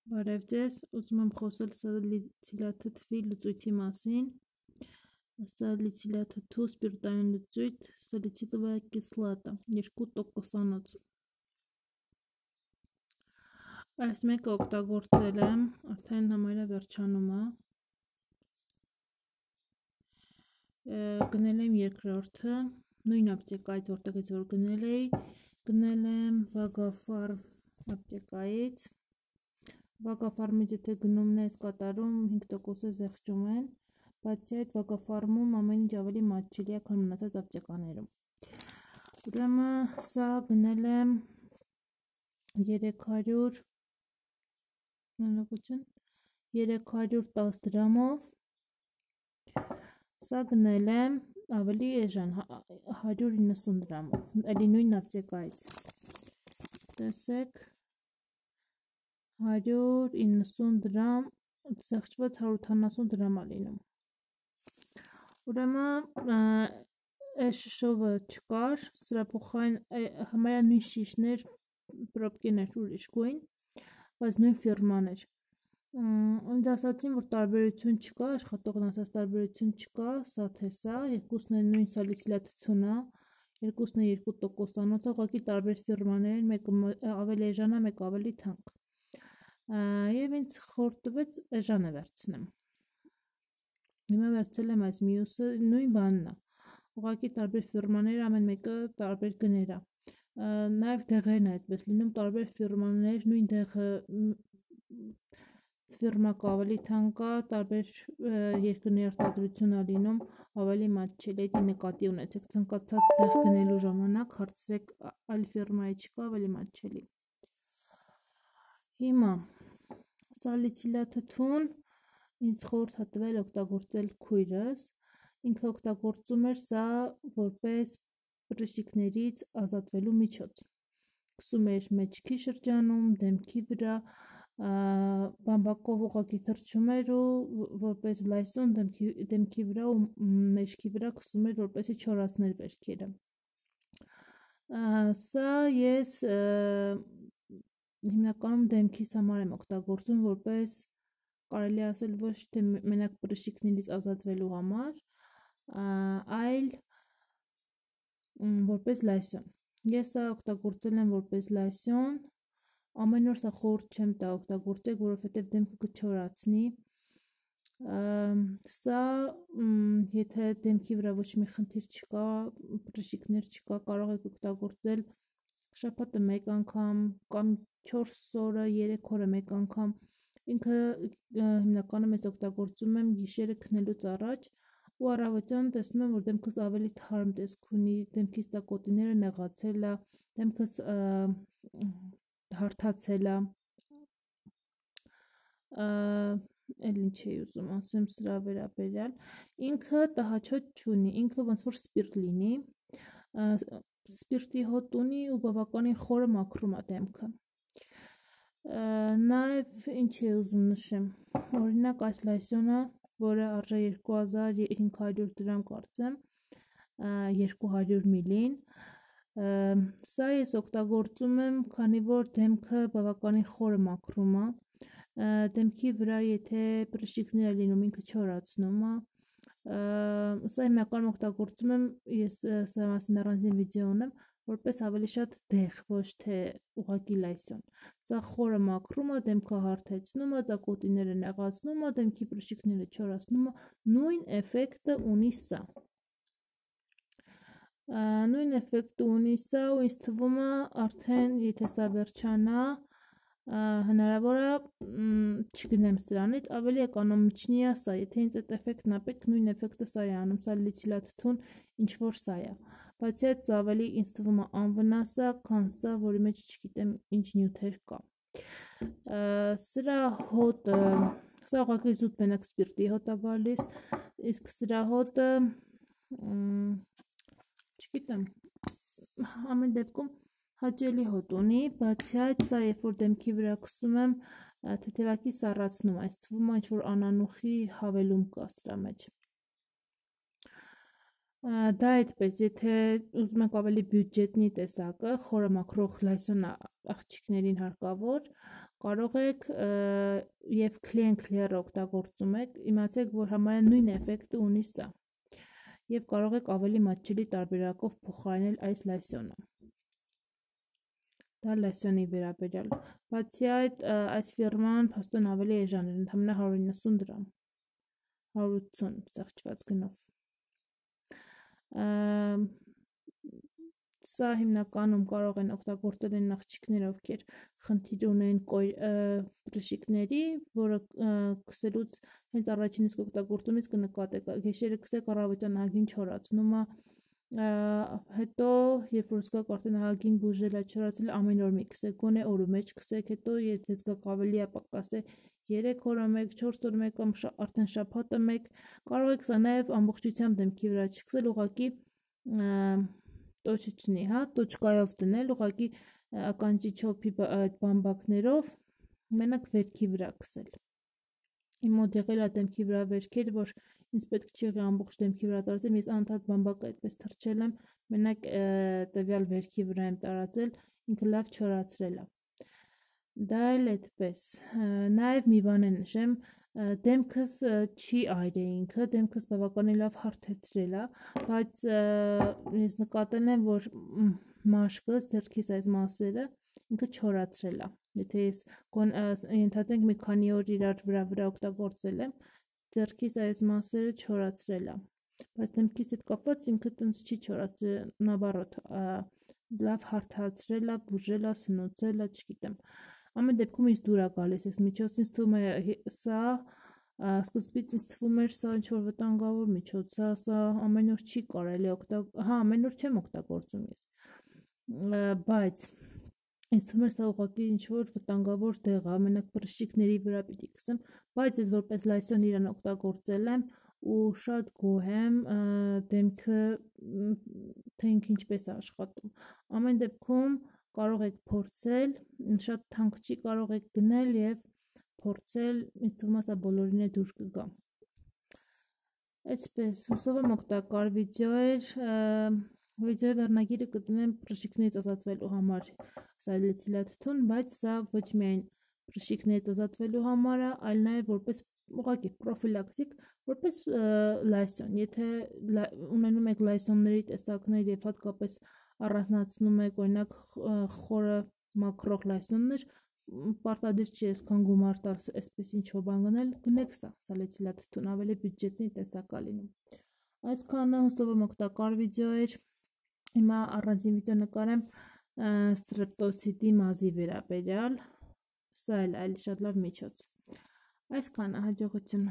Բարև ձեզ, ուզում եմ խոսել սալիցիլաթթվի լուծույթի մասին։ Սալիցիլաթթու սպիրտային լուծույթ, սալիցիլովая կիսլատա, 2%-անոց։ Այս մեկը օգտագործել եմ, արդեն համարյա վերջանում է։ Գնել եմ երկրորդը, նույն ապտեկայից, որտեղից որ գնել էի, գնել եմ Վագաֆարմ ապտեկայից։ Վագաֆարմից եթե գնումն ես կատարում 5%-ը զեղչում են, բացի այդ Վագաֆարմում ամեն ինչ ավելի մատչելի է, քան մնացած ապտեկաներում։ Ուրեմն սա գնել եմ 310 դրամով, սա գնել եմ ավելի էժան 190 դրամով, էլի նույն ապտեկայից։ Տեսեք 190 դրամ, զեղչված 180 դրամ է լինում։ Ուրեմն այս շշովը չկար, սրա փոխարեն համարյա նույն շիշներ, պրոբկիներ ուրիշ գույն, բայց նույն ֆիրման էր։ Ինձ ասացին, որ տարբերություն չկա, աշխատողն ասաց տարբերություն չկա, սա թե սա, երկուսն են նույն սալիցիլաթթուն է, երկուսն է 2%-անոց, ուղղակի տարբեր ֆիրմաներ են, մեկը ավելի էժան է, մեկը ավելի թանկ։ Եվ ինձ խորտ տվեց էժանը վերցնեմ։ Հիմա վերցել եմ այս մյուսը, նույն բանն է, ուղղակի տարբեր ֆիրմաներ, ամեն մեկը տարբեր գներ է։ Նաև դեղերն է այդպես լինում, տարբեր ֆիրմաներ, նույն դեղը ֆիրմա կա ավելի թանկ է, տարբեր երկրների արտադրություն է լինում, ավելի մատչելի է, նկատի ունեցեք, ցանկացած դեղ գնելու ժամանակ հարցրեք այլ ֆիրմայի չկա, ավելի մատչելի։ Հիմա սալիցիլաթթուն ինձ խորհուրդ է տվել օգտագործել քույրս, ինքը օգտագործում էր սա որպես պրշիկներից ազատվելու միջոց։ Գցում էր մեջքի շրջանում, դեմքի վրա, բամբակով ուղղակի թռչում էր ու որպես լայսուն դեմքի վրա ու մեջքի վրա գցում էր, որպեսզի չորացներ վերքերը։ Սա ես հիմնականում դեմքիս համար եմ օգտագործում, որպես կարելի ասել ոչ թե մենակ պրշիկներից ազատվելու համար, այլ որպես լայսյոն։ Ես սա օգտագործել եմ որպես լայսյոն, ամեն օր սա խորհուրդ չեմ տա օգտագործեք, որովհետև դեմքը կչորացնի։ Սա եթե դեմքի վրա ոչ մի խնդիր չկա, պրշիկներ չկա, կարող եք օգտագործել շաբաթը մեկ անգամ կամ 4 օրը 3 օրը մեկ անգամ։ Ինքը հիմնականում ես օգտագործում եմ գիշերը քնելուց առաջ ու առավոտյան տեսնում եմ, որ դեմքս ավելի թարմ տեսք ունի, դեմքիս տակոտիները նեղացել է, դեմքս հարթացել է։ Էլ ինչ էի ուզում ասեմ սրա վերաբերյալ, ինքը տհաճոտ չունի, ինքը ոնց որ սպիրտ լինի, սպիրտի հոտ ունի ու բավականին խորը մաքրում է դեմքը։ Նաև ինչ էի ուզում նշեմ, օրինակ այս լայսյոնը, որը արժե 2500 դրամ կարծեմ, 200 մլին, սա ես օգտագործում եմ, քանի որ դեմքը բավականին խորը մաքրում է, դեմքի վրա եթե պրշիկներ է լինում, ինքը չորացնում է, սա հիմնականում օգտագործում եմ, ես սրա մասին առանձին վիդեո ունեմ, որպես ավելի շատ դեղ, ոչ թե ուղղակի լայսյոն։ Սա խորը մաքրում է, դեմքը հարթեցնում է, ծակոտիները նեղացնում է, դեմքի պրշիկները չորացնում է, նույն էֆեկտը ունի սա։ Նույն էֆեկտը ունի սա ու ինձ թվում է արդեն եթե սա վերջանա, հնարավոր է չգնեմ սրանից, ավելի էկոնոմիչնի է սա, եթե ինձ այդ էֆեկտն է պետք, նույն էֆեկտը սա է անում, սալիցիլաթթուն ինչ որ սա է, բայց այդ ավելի ինձ թվում է անվնաս է, քան սա, որի մեջ չգիտեմ ինչ նյութեր կա։ Սրա հոտը, սա ուղղակի զուտ մենակ սպիրտի հոտ է գալիս, իսկ սրա հոտը չգիտեմ, ամեն դեպքում հաճելի հոտ ունի, բացի այդ սա երբ որ դեմքի վրա քսում եմ, թեթևակի սառացնում, այս թվում է ինչ-որ անանուխի հավելում կա սրա մեջ։ Դա այդպես, եթե ուզում եք ավելի բյուջետնի տեսակը, խորը մաքրող լայսյոն աղջիկներին հարկավոր, կարող եք եւ clear օգտագործում եք, իմացեք, որ համարյա նույն էֆեկտը ունի սա։ Եվ կարող եք ավելի մատչելի տարբերակով փոխարինել այս լայսյոնը։ Դա լայսյոնի վերաբերյալ։ Բացի այդ, այս ֆիրման փաստորեն ավելի էժան էր, ընդամենը 190 դրամ, 180 սեղճված գնով։ Սա հիմնականում կարող են օգտագործել են աղջիկներ, ովքեր խնդիր ունեն բրշիկների, որը քսելուց հենց առաջին իսկ օգտագործումից կնկատեք, գիշերը քսեք առավոտյան ահագին չորացնում է, հետո երբ որ զգաք արդեն ահագին բուժել է, չորացել ամեն օր մի քսեք, գոնե օրը մեջ քսեք, հետո եթե զգաք ավելի է պակաս է 3 օրը մեկ, 4 օրը մեկ կամ արդեն շաբաթը մեկ, կարող եք սա նաև ամբողջությամբ դեմքի վրա չքսել, ուղղակի տոչիչնի, հա, տոչկայով դնել, ուղղակի ականջի չոփի այդ բամբակներով մենակ վերքի վրա քսել։ Իմ մոտ եղել է դեմքի վրա վերքեր, որ ինձ պետք չի եղել ամբողջ դեմքի վրա տարածել, ես անդադ բամբակը այդպես թռչել եմ, մենակ տվյալ վերքի վրա եմ տարածել, ինքը լավ չորացրել է։ Դա էլ այդպես։ Նաև մի բան նշեմ, դեմքս չի այրե ինքը, դեմքս բավականին լավ հարթեցրել է, բայց ես նկատել եմ, որ մաշկս, ձեռքիս այս մասերը ինքը չորացրել է։ Եթե ես ենթադրենք մի քանի օր իրար վրա օգտագործել եմ, ձեռքիս այս մասերը չորացրել է։ Բայց դեմքիս հետ կապված ինքը տենց չի չորացրել, նավարոտ, լավ հարթացրել է, բուժել է, սնուցել է, չգիտեմ։ Ամեն դեպքում ինձ դուր է գալիս, այս միջոցին ինձ թվում է սա սկզբից ինձ թվում էր սա ինչ-որ վտանգավոր միջոց, սա ամեն օր չի կարելի հա, ամեն օր չեմ օգտագործում ես, բայց ինձ թվում էր սա ուղղակի ինչ-որ վտանգավոր դեղ է, մենակ բրշիկների վրա պիտի քսեմ, բայց ես որպես լայսյոն իրան օգտագործել եմ ու շատ գոհ եմ, դեմքը թե ինքը ինչպես է աշխատում։ Ամեն դեպքում կարող եք փորձել, շատ թանկ չի, կարող եք գնել եւ փորձել, ինձ թվում է սա բոլորին է դուր կգա։ Այսպես, հուսով եմ օգտակար վիդեո էր, վիդեոյի վերնագիրը կդնեմ բրշիկներից ազատվելու համար սալիցիլաթթուն, բայց սա ոչ միայն բրշիկներից ազատվելու համար է, այլ նաև որպես ուղղակի պրոֆիլակտիկ, որպես լայսյոն, եթե ունենում եք լայսյոնների տեսակներ եւ հատկապես առանձնացնում եք օրինակ խորը մաքրող լայսյոններ, պարտադիր չի այսքան գումար տալ այսպես ինչ-որ բան գնել, գնեք սա սալիցիլաթթուն, ավելի բյուջետնի տեսակ է լինում։ Այսքանը, հուսով եմ օգտակար վիդեո էր։ Հիմա առանձին վիդեո նկարեմ ստրեպտոցիտի մազի վերաբերյալ, սա էլ այլ շատ լավ միջոց։ Այսքանը, հաջողություն։